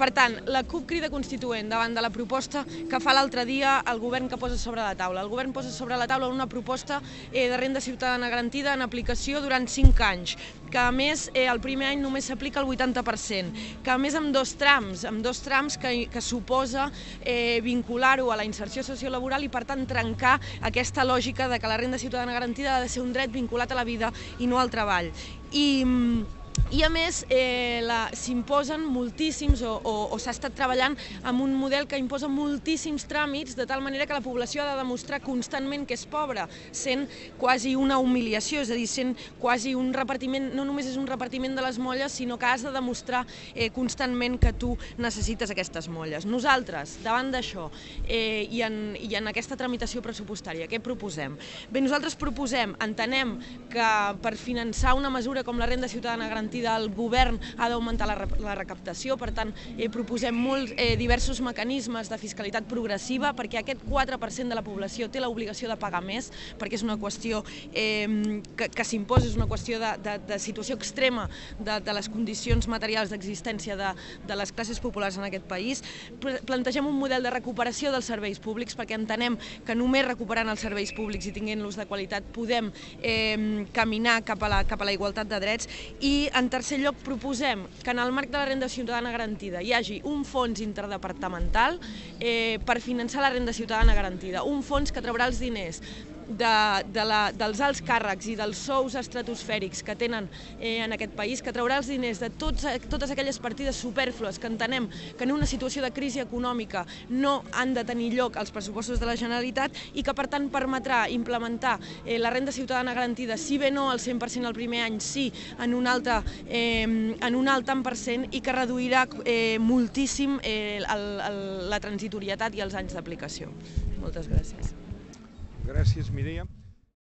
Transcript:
Per tant, la CUP Crida Constituent davant de la proposta que fa l'altre dia el govern que posa sobre la taula. El govern posa sobre la taula una proposta de renda ciutadana garantida en aplicació durant 5 anys, que a més el primer any només s'aplica el 80%, que a més amb dos trams que suposa vincular-ho a la inserció sociolaboral i per tant trencar aquesta lògica de que la renda ciutadana garantida ha de ser un dret vinculat a la vida i no al treball. I a més s'imposen moltíssims o s'ha estat treballant amb un model que imposa moltíssims tràmits de tal manera que la població ha de demostrar constantment que és pobra, sent quasi una humiliació, és a dir, sent quasi un repartiment, no només és un repartiment de les molles, sinó que has de demostrar constantment que tu necessites aquestes molles. Nosaltres, davant d'això i en aquesta tramitació pressupostària, què proposem? Bé, nosaltres proposem, entenem que per finançar una mesura com la renda ciutadana garantida el govern ha d'augmentar la recaptació, per tant proposem diversos mecanismes de fiscalitat progressiva perquè aquest 4% de la població té l'obligació de pagar més, perquè és una qüestió que s'imposa, és una qüestió de situació extrema de les condicions materials d'existència de les classes populars en aquest país. Plantegem un model de recuperació dels serveis públics perquè entenem que només recuperant els serveis públics i tinguent-los de qualitat podem caminar cap a la igualtat de drets. I en tercer lloc proposem que en el marc de la renda ciutadana garantida hi hagi un fons interdepartamental per finançar la renda ciutadana garantida, un fons que traurà els diners dels alts càrrecs i dels sous estratosfèrics que tenen en aquest país, que traurà els diners de totes aquelles partides supèrflues que entenem que en una situació de crisi econòmica no han de tenir lloc als pressupostos de la Generalitat i que per tant permetrà implementar la renda ciutadana garantida, si bé no al 100% el primer any, sí en un alt tant per cent i que reduirà moltíssim la transitorietat i els anys d'aplicació. Moltes gràcies. Gràcies, Mireia.